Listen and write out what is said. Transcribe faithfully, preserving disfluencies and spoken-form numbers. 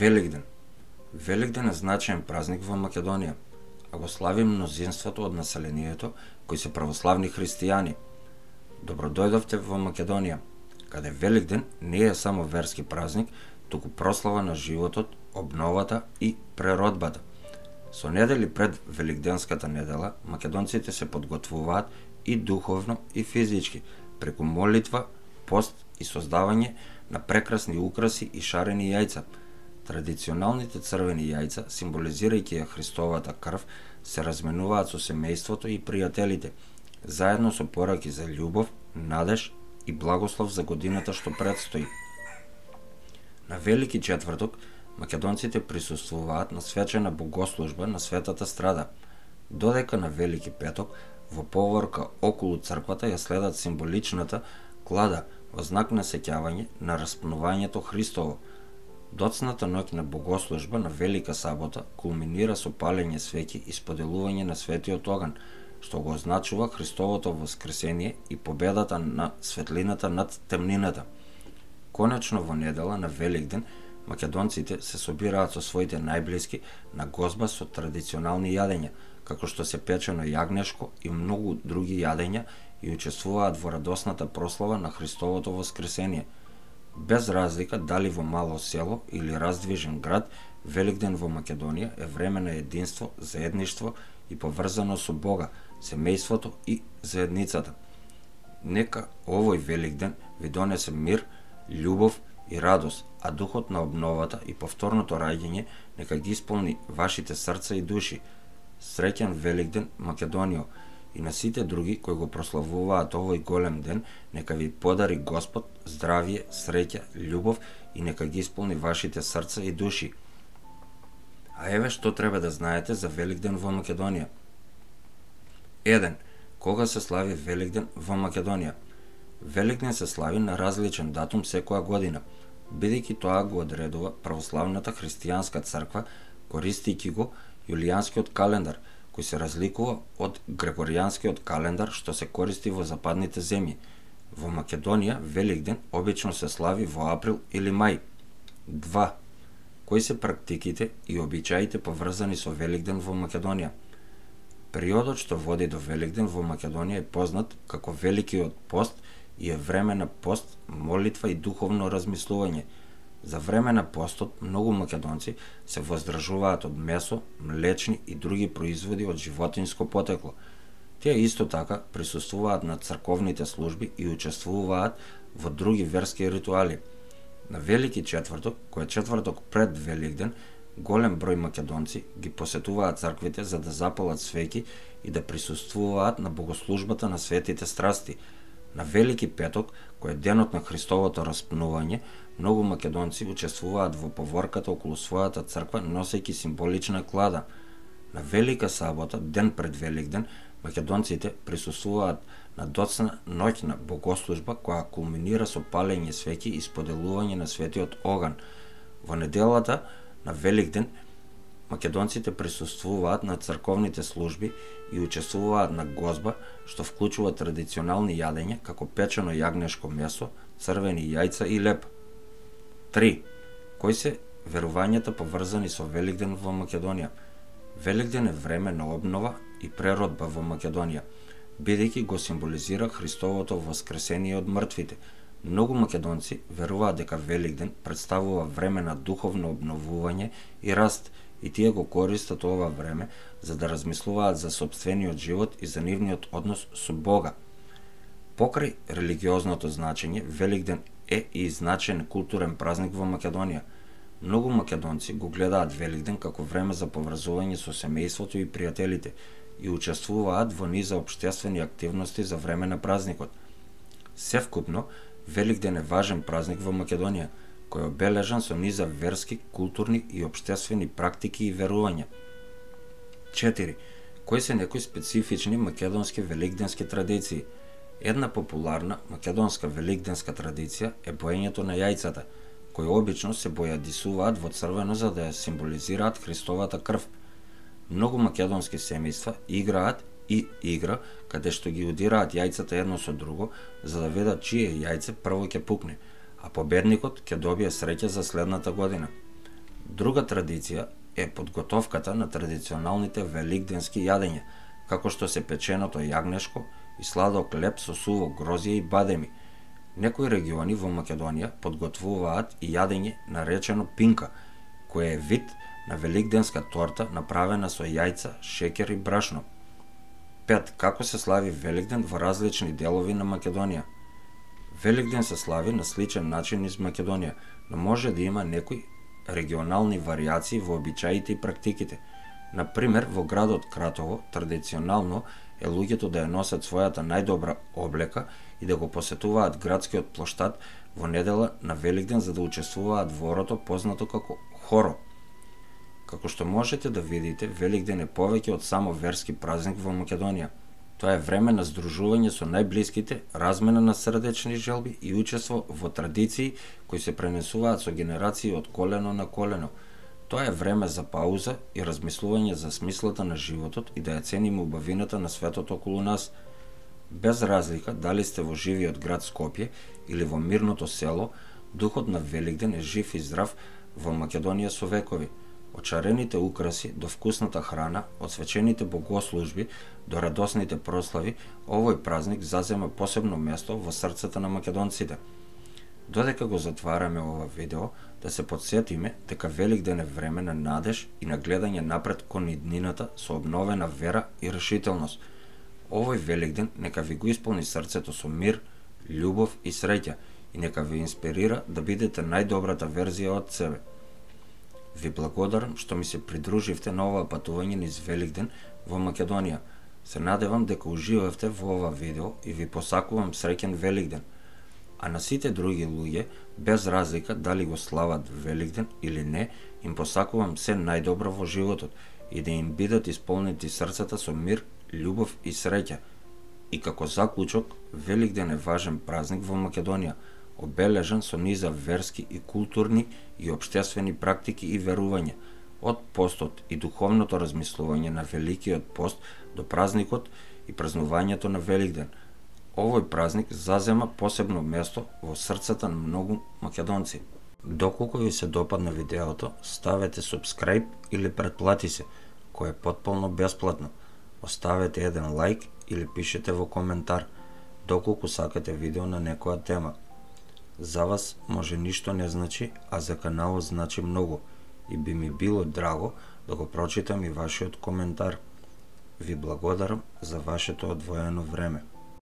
Великден. Великден е значаен празник во Македонија, а го слави мнозинството од населението кои се православни христијани. Добродојдовте во Македонија, каде Великден не е само верски празник, туку прослава на животот, обновата и преродбата. Со недели пред Великденската недела, македонците се подготвуваат и духовно и физички, преку молитва, пост и создавање на прекрасни украси и шарени јајца. Традиционалните црвени јајца, символизирајќи ја Христовата крв, се разменуваат со семејството и пријателите, заедно со пораки за љубов, надеж и благослов за годината што предстои. На Велики четврток, македонците присуствуваат на свечена богослужба на Светата Страда, додека на Велики петок, во поворка околу црквата ја следат символичната клада во знак на сеќавање на распнувањето Христово. Доцната ноќ на богослужба на Велика сабота кулминира со палење свеќи и споделување на светиот оган, што го означува Христовото воскресение и победата на светлината над темнината. Конечно во недела на Великден македонците се собираат со своите најблиски на гозба со традиционални јадења, како што се печено јагнешко и многу други јадења и учествуваат во радосната прослава на Христовото воскресение. Без разлика дали во мало село или раздвижен град, Великден во Македонија е време на единство, заедништво и поврзано со Бога, семејството и заедницата. Нека овој Великден ви донесе мир, љубов и радост, а духот на обновата и повторното раѓање нека ги исполни вашите срца и души. Среќен Великден, Македонио, и на сите други кои го прославуваат овој голем ден, нека ви подари Господ здравје, среќа, љубов и нека ги исполни вашите срца и души. А еве што треба да знаете за Великден во Македонија. еден. Кога се слави Великден во Македонија? Великден се слави на различен датум секоја година, бидејќи тоа го одредува православната христијанска црква, користејќи го јулијанскиот календар, кој се разликува од грегоријанскиот календар што се користи во западните земји. Во Македонија Великден обично се слави во април или мај. два. Кои се практиките и обичаите поврзани со Великден во Македонија? Периодот што води до Великден во Македонија е познат како Великиот пост и е време на пост, молитва и духовно размислување. За време на постот многу македонци се воздржуваат од месо, млечни и други производи од животинско потекло. Тие исто така присуствуваат на црковните служби и учествуваат во други верски ритуали. На Велики четврток, кој е четврток пред Великден, голем број македонци ги посетуваат црквите за да запалат свеќи и да присуствуваат на богослужбата на светите страсти. На Велики петок, кој е денот на Христовото распнување, многу македонци учествуваат во поворката околу својата црква носејќи символична клада. На Велика сабота, ден пред Великден, македонците присуствуваат на доцна ноќна богослужба која кулминира со палење свеќи и споделување на светиот оган. Во неделата на Великден македонците присуствуваат на црковните служби и учествуваат на гозба, што вклучува традиционални јадења како печено јагнешко месо, црвени јајца и леп. три. Кои се верувањата поврзани со Великден во Македонија? Великден е време на обнова и преродба во Македонија, бидејќи го символизира Христовото воскресение од мртвите. Многу македонци веруваат дека Великден представува време на духовно обновување и раст, и тие го користат ова време за да размислуваат за сопствениот живот и за нивниот однос со Бога. Покрај религиозното значење, Великден е и значаен културен празник во Македонија. Многу македонци го гледаат Великден како време за поврзување со семејството и пријателите и учествуваат во низа општествени активности за време на празникот. Севкупно, Великден е важен празник во Македонија, кој е обележан со низа верски, културни и општествени практики и верувања. четири. Кои се некои специфични македонски великденски традиции? Една популарна македонска великденска традиција е боењето на јајцата, кои обично се бојадисуваат во црвено за да ја символизираат Христовата крв. Многу македонски семејства играат и игра каде што ги удираат јајцата едно со друго за да видат чие јајце прво ќе пукне, а победникот ќе добие среќа за следната година. Друга традиција е подготовката на традиционалните великденски јадења, како што се печеното јагнешко и сладок леп со суво грозје и бадеми. Некои региони во Македонија подготвуваат и јадење наречено пинка, кое е вид на великденска торта направена со јајца, шеќер и брашно. Пет. Како се слави Великден во различни делови на Македонија? Великден се слави на сличен начин низ Македонија, но може да има некои регионални варијации во обичаите и практиките. Например, во градот Кратово традиционално е луѓето да ја носат својата најдобра облека и да го посетуваат градскиот плоштад во недела на Великден за да учествуваат во орото познато како хоро. Како што можете да видите, Великден е повеќе од само верски празник во Македонија. Тоа е време на здружување со најблиските, размена на срдечни желби и учество во традиции кои се пренесуваат со генерации од колено на колено. Тоа е време за пауза и размислување за смислата на животот и да ја цениме убавината на светот околу нас. Без разлика дали сте во живиот град Скопје или во мирното село, духот на Великден е жив и здрав во Македонија со векови. Од шарените украси до вкусната храна, од свечените богослужби до радосните прослави, овој празник зазема посебно место во срцата на македонците. Додека го затвараме ова видео, да се подсетиме дека Великден е време на надеж и на гледање напред кон иднината со обновена вера и решителност. Овој Великден нека ви го исполни срцето со мир, љубов и среќа и нека ви инспирира да бидете најдобрата верзија од себе. Ви благодарам што ми се придруживте на ова патување низ Великден во Македонија. Се надевам дека уживавте во ова видео и ви посакувам среќен Великден. А на сите други луѓе, без разлика дали го слават Великден или не, им посакувам се најдобро во животот и да им бидат исполнети срцата со мир, љубов и среќа. И како заклучок, Великден е важен празник во Македонија, обележан со низа верски и културни и општествени практики и верувања, од постот и духовното размислување на Великиот пост до празникот и празнувањето на Великден. Овој празник зазема посебно место во срцата на многу македонци. Доколку ви се допадна видеото, ставете subscribe или претплати се, кој е потполно бесплатно. Оставете еден лайк или пишете во коментар, доколку сакате видео на некоја тема. За вас може ништо не значи, а за каналот значи многу и би ми било драго да го прочитам и вашиот коментар. Ви благодарам за вашето одвоено време.